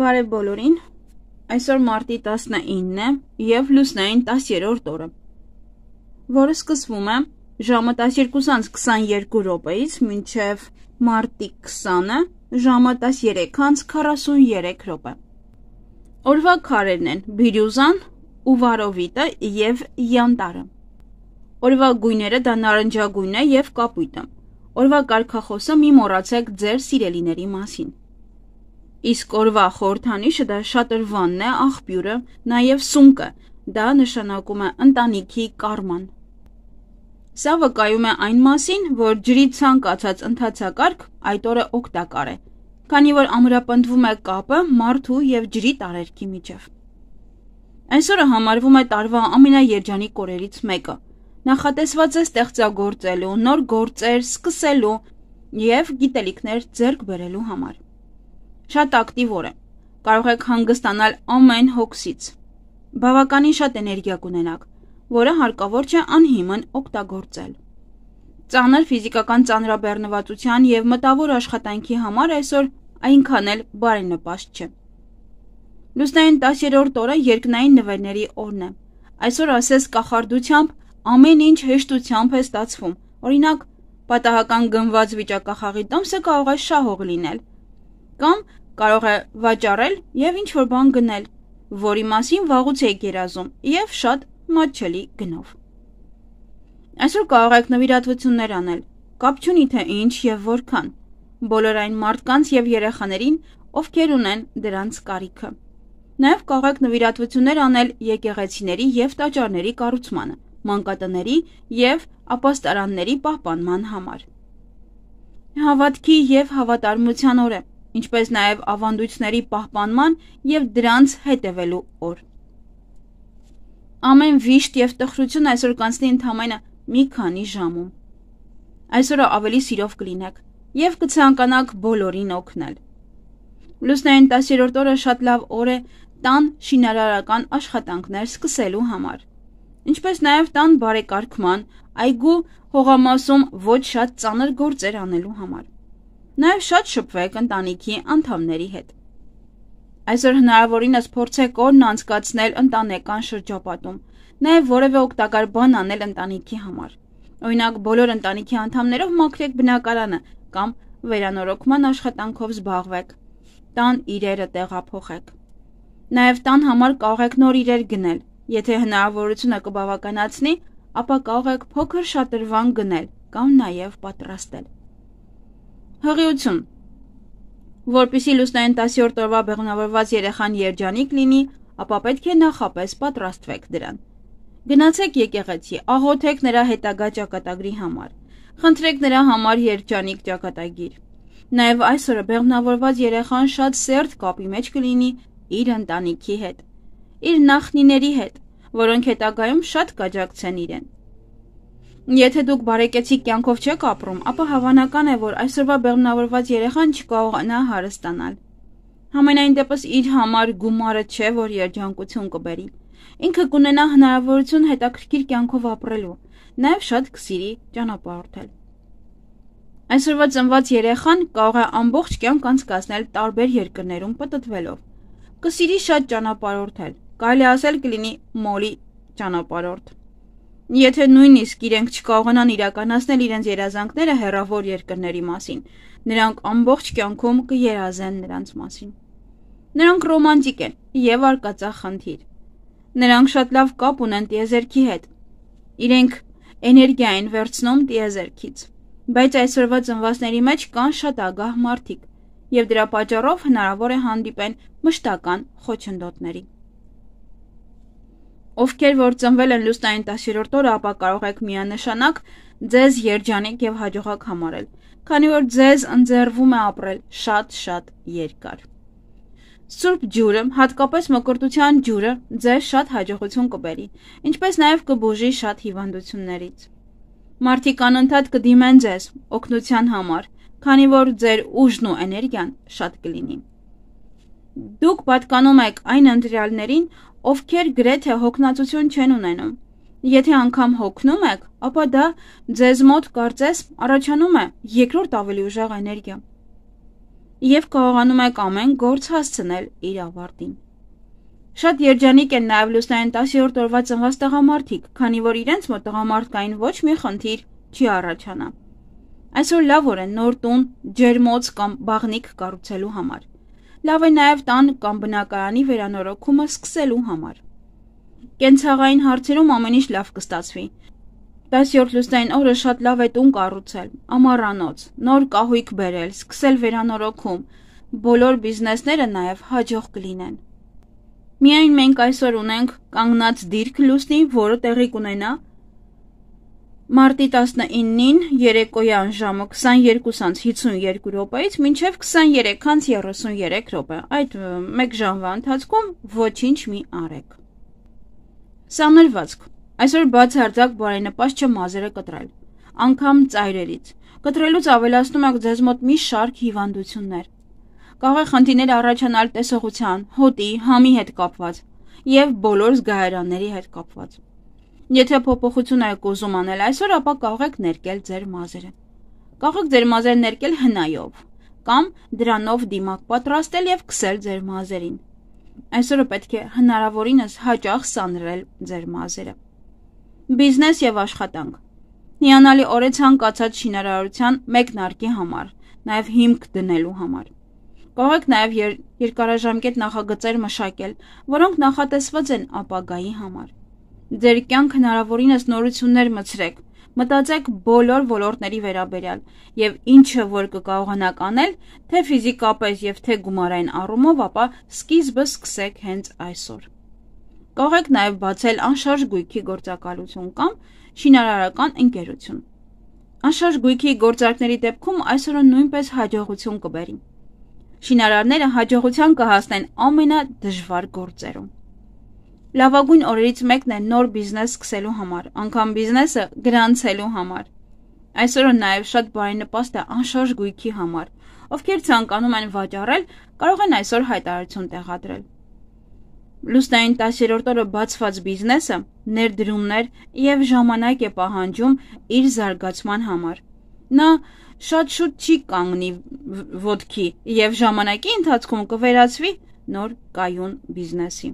Բարև բոլորին, այսօր մարտի 19-ն է և լուսնային 10-րդ օրը, որը սկսվում է ժամը 12:22 մինչև մարտի 20-ը ժամը 13:43։ Օրվա քարերն են բիրյուզան, ուվարովիտը և յանտարը։ Օրվա գույները դա նարնջագույնն է և կապույտը։ Օրվա կարգախոսը մի մոռացեք ձեր սիրելիների մասին։ Իսկ օրվա խորհրդանիշը դա շատրվանն է, աղբյուրը, նաև սունկը, դա նշանակում է ընտանիքի կարման։ Սա վկայում է այն մասին, որ ջրի ցանկացած ընթացակարգ այդ օրը օգտակար է, քանի որ ամրապնդվում է կապը մարդու և ջրի տարերքի միջև։ Այսօրը համարվում է տարվա ամենաերջանիկ օրերից մեկը, նախատեսված է ստեղծագործելու, նոր գործեր սկսելու և գիտելիքներ ձեռք բերելու համար։ Շատ ակտիվ օր է, կարող եք հանգստանալ ամեն հոգսից, բավականին շատ էներգիա կունենաք, որը հարկավոր չէ անհիմն օգտագործել։ Ծանր ֆիզիկական ծանրաբեռնվածության և մտավոր աշխատանքի համար այսօր այնքան էլ բարենպաստ չէ։ Լուսնային 10-րդ օրը երկնային նվերների օրն է։ Այսօր ասես կախարդությամբ ամեն ինչ հեշտությամբ է ստացվում, օրինակ պատահական գնված վիճակախաղի տոմսը կարող է շահող լինել, կամ կարող է վաճառել և ինչ-որ բան գնել, որի մասին վաղուց եք երազում և շատ մատչելի գնով։ Այսօր կարող եք նվիրատվություններ անել, կապ չունի թե ինչ և որքան, բոլոր այն մարդկանց և երեխաներին, ովքեր ունեն դրանց կարիքը։ Նաև կարող եք նվիրատվություններ անել եկեղեցիների և տաճարների կառուցմանը, մանկատների և ապաստարանների պահպանման համար։ Հավատքի և հավատարմության օր է, ինչպես նաև ավանդույթների պահպանման և դրանց հետևելու օր։ Ամեն վիշտ և տխրություն այսօր կանցնի ընդամենը մի քանի ժամում։ Այսօրը ավելի սիրով կլինեք և կցանկանաք բոլորին օգնել։ Լուսնային 10-րդ օրը շատ լավ օր է տան շինարարական աշխատանքներ սկսելու համար, ինչպես նաև տան բարեկարգման, այգու հողամասում ոչ շատ ծանր գործեր անելու համար։ Նաև շատ շփվեք ընտանիքի անդամների հետ։ Այսօր հնարավորինս փորձեք օրն անցկացնել ընտանեկան շրջապատում, նաև որևէ օգտակար բան անել ընտանիքի համար։ Օրինակ բոլոր ընտանիքի անդամներով մաքրեք բնակարանը կամ վերանորոգման աշխատանքով զբաղվեք, տան իրերը տեղափոխեք։ Նաև տան համար կարող եք նոր իրեր գնել, եթե հնարավորությունը կբավականացնի, ապա կարող եք փոքր շատրվան գնել կամ նաև պատրաստել։ Հղիություն։ Որպեսզի լուսնային 10-րդ օրվա բեղմնավորված երեխան երջանիկ լինի, ապա պետք է նախապես պատրաստվեք դրան։ Գնացեք եկեղեցի, աղոթեք նրա հետագա ճակատագրի համար, խնդրեք նրա համար երջանիկ ճակատագիր։ Նաև այսօրը բեղմնավորված երեխան շատ սերտ կապի մեջ կլինի իր ընտանիքի հետ, իր նախնիների հետ, որոնք հետագայում շատ կաջակցեն իրեն։ Եթե դուք բարեկեցիկ կյանքով չեք ապրում, ապա հավանական է, որ այսօրվա բեղմնավորված երեխան չկարողանա հարստանալ։ Համենայն դեպս իր համար գումարը չէ, որ երջանկություն կբերի։ Ինքը կունենա հնարավորություն հետաքրքիր կյանքով ապրելու, նաև շատ կսիրի ճանապարհորդել։ Այսօրվա ծնված երեխան կարող է ամբողջ կյանք անցկացնել տարբեր երկրներում պտտվելով։ Կսիրի շատ ճանապարհորդել, կարելի ասել կլինի մոլի ճանապարհորդ։ Եթե նույնիսկ իրենք չկարողանան իրականացնել իրենց երազանքները հեռավոր երկրների մասին, նրանք ամբողջ կյանքում կերազեն նրանց մասին։ Նրանք ռոմանտիկ են և արկածախնդիր։ Նրանք շատ լավ կապ ունեն տիեզերքի հետ։ Իրենք էներգիա են վերցնում տիեզերքից, բայց այսօրվա ծնվածների մեջ կան շատ ագահ մարդիկ, և դրա պատճառով հնարավոր է հանդիպեն մշտական խոչընդոտների։ Ովքեր որ ծնվել են լուսնային 10-րդ օրը, ապա կարող եք միանշանակ ձեզ երջանիկ և հաջողակ համարել, քանի որ ձեզ ընձեռվում է ապրել շատ երկար։ Սուրբ ջուրը, հատկապես մկրտության ջուրը, ձեզ շատ հաջողություն կբերի, ինչպես նաև կբուժի շատ հիվանդություններից։ Մարդիկ անընդհատ կդիմեն ձեզ օգնության համար, քանի որ ձեր ուժն ու էներգիան շատ կլինի։ Դուք պատկանում եք այն ընտրյալներին, ովքեր գրեթե հոգնածություն չեն ունենում։ Եթե անգամ հոգնում եք, ապա դա ձեզ մոտ կարծես առաջանում է երկրորդ ավելի ուժեղ էներգիա։ և կարողանում եք ամեն գործ հասցնել իր ավարտին։ Շատ երջանիկ են նաև լուսնային 10-րդ օրվա ծնված տղամարդիկ, քանի որ իրենց մոտ տղամարդկային ոչ մի խնդիր չի առաջանա։ Այսօր լավ օր է նոր տուն, ջերմոց կամ բաղնիք կառուցելու համար։ Լավ է նաև տան կամ բնակարանի վերանորոգումը սկսելու համար։ Կենցաղային հարցերում ամեն ինչ լավ կստացվի։ 10-րդ լուսնային օրը շատ լավ է տուն կառուցել, ամառանոց, նոր կահույք բերել, սկսել վերանորոգում, բոլոր բիզնեսները նաև հաջող կլինեն։ Միայն մենք այսօր ունենք կանգնած դիրք լուսնի, որը տեղի կունենա մարտի 19-ին երեկոյան ժամը 22:52 րոպեից մինչև 23:33 րոպե։ Այդ մեկ ժամվա ընթացքում ոչինչ մի արեք։ Սանրվածք։ Այսօր բացարձակ բարենպաստ չէ մազերը կտրել, անգամ ծայրերից։ Կտրելուց ավելացնում եք ձեզ մոտ մի շարք հիվանդություններ։ Կարող է խնդիրներ առաջանալ տեսողության, հոտի, համի հետ կապված և բոլոր զգայարանների հետ կապված։ Եթե փոփոխություն եք ուզում անել այսօր, ապա կարող եք ներկել ձեր մազերը։ Կարող եք ձեր մազերը ներկել հնայով կամ դրանով դիմակ պատրաստել և քսել ձեր մազերին։ Այսօրը պետք է հնարավորինս հաճախ սանրել ձեր մազերը։ Բիզնես և աշխատանք։ Հիանալի օր է ցանկացած շինարարության մեկնարկի համար, նաև հիմք դնելու համար։ Կարող եք նաև երկարաժամկետ նախագծեր մշակել, որոնք նախատեսված են ապագայի համար։ Ձեր կյանք հնարավորինս նորություններ մցրեք, մտածեք բոլոր ոլորտների վերաբերյալ և ինչը որ կկարողանաք անել, թե ֆիզիկապես և թե գումարային առումով, ապա սկիզբը սկսեք հենց այսօր։ Կարող եք նաև բացել անշարժ գույքի գործակալություն կամ շինարարական ընկերություն։ Անշարժ գույքի գործարքների դեպքում այսօրը նույնպես հաջողություն կբերի։ Շինարարները հաջողության կհասնեն ամենադժվար գործերում։ Լավագույն օրերից մեկն է նոր բիզնես սկսելու համար, անգամ բիզնեսը գրանցելու համար։ Այսօրը նաև շատ բարենպաստ է անշարժ գույքի համար, ովքեր ցանկանում են վաճառել, կարող են այսօր հայտարարություն տեղադրել։ Լուսնային 10-րդ օրը բացված բիզնեսը ներդրումներ և ժամանակ է պահանջում իր զարգացման համար։ Նա շատ շուտ չի կանգնի ոտքի և ժամանակի ընթացքում կվերածվի նոր կայուն բիզնեսի։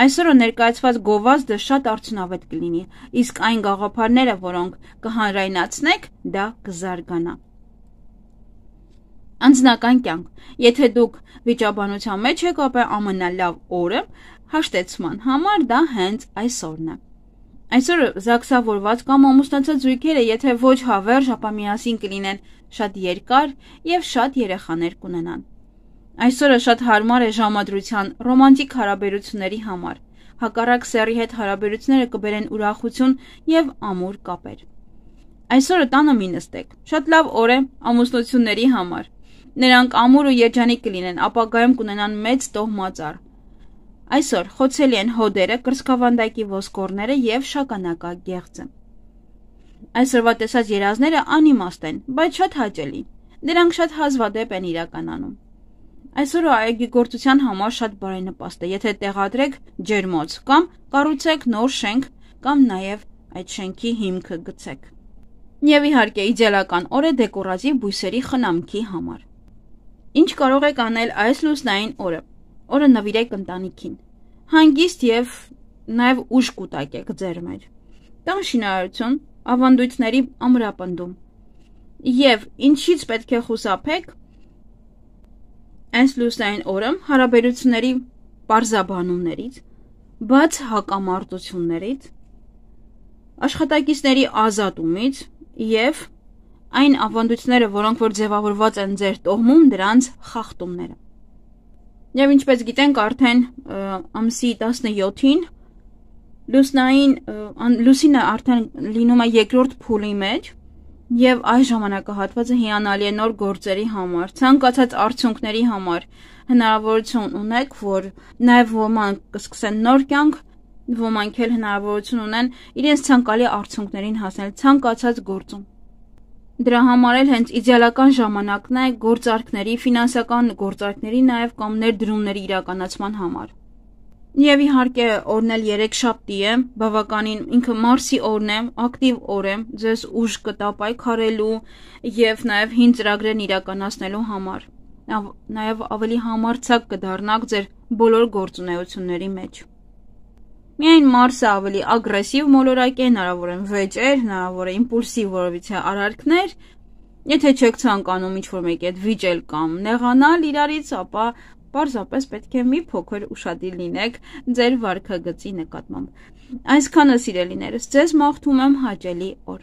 Այսօրը ներկայացված գովազդը շատ արդյունավետ կլինի, իսկ այն գաղափարները, որոնք կհանրայնացնեք, դա կզարգանա։ Անձնական կյանք։ Եթե դուք վիճաբանության մեջ եք, ապա ամենալավ օրը հաշտեցման համար դա հենց այսօրն է։ Այսօրը զաքսավորված կամ ամուսնացած զույգերը, եթե ոչ հավերժ, ապա միասին կլինեն շատ երկար և շատ երեխաներ կունենան։ Այսօրը շատ հարմար է ժամադրության ռոմանտիկ հարաբերությունների համար։ Հակառակ սեռի հետ հարաբերությունները կբերեն ուրախություն և ամուր կապեր։ Այսօրը տանը մի նստեք։ Շատ լավ օր է ամուսնությունների համար։ Նրանք ամուր ու երջանիկ կլինեն, ապագայում կունենան մեծ տոհմածառ։ Այսօր խոցելի են հոդերը, կրծքավանդակի ոսկորները և շագանակագեղձը։ Այսօրվա տեսած երազները անիմաստ են, բայց շատ հաճելի։ Դրանք շատ հազվադեպ են իրականանում։ Այսօրը այգեգործության համար շատ բարենպաստ է, եթե տեղադրեք ջերմոց կամ կառուցեք նոր շենք կամ նաև այդ շենքի հիմքը գցեք։ Եվ իհարկե իդեալական օր է դեկորատիվ բույսերի խնամքի համար։ Ինչ կարող եք անել այս լուսնային օրը։ Օրը նվիրեք ընտանիքին։ Հանգիստ և նաև ուժ կուտակեք ձեր մեջ։ Տան շինարարություն, ավանդույթների ամրապնդում։ Եվ ինչից պետք է խուսափեք այս լուսնային օրը հարաբերությունների պարզաբանումներից, բաց հակամարտություններից, աշխատակիցների ազատումից և այն ավանդույթները, որոնք որ ձևավորված են ձեր տոհմում, դրանց խախտումները։ Եվ ինչպես գիտենք, արդեն ամսի 17-ին լուսինը արդեն լինում է երկրորդ փուլի մեջ և այս ժամանակահատվածը հիանալի է նոր գործերի համար, ցանկացած արդյունքների համար հնարավորություն ունեք, որ նաև ոմանք կսկսեն նոր կյանք, ոմանք էլ հնարավորություն ունեն իրենց ցանկալի արդյունքներին հասնել ցանկացած գործում։ Դրա համար էլ հենց իդեալական ժամանակն է գործարքների, ֆինանսական գործարքների նաև կամ ներդրումների իրականացման համար։ Եվ իհարկե օրն էլ երեքշաբթի է, բավականին ինքը Մարսի օրն է, ակտիվ օր է, ձեզ ուժ կտա պայքարելու և նաև հին ծրագրերն իրականացնելու համար։ Նաև ավելի համարձակ կդառնաք ձեր բոլոր գործունեությունների մեջ։ Միայն Մարսը ավելի ագրեսիվ մոլորակ է, հնարավոր են վեճեր, հնարավոր է իմպուլսիվ որևիցե արարքներ։ Եթե չեք ցանկանում ինչ-որ մեկի հետ վիճել կամ նեղանալ իրարից, ապա պարզապես պետք է մի փոքր ուշադիր լինեք ձեր վարքագծի նկատմամբ։ Այսքանը, սիրելիներս, ձեզ մաղթում եմ հաճելի օր։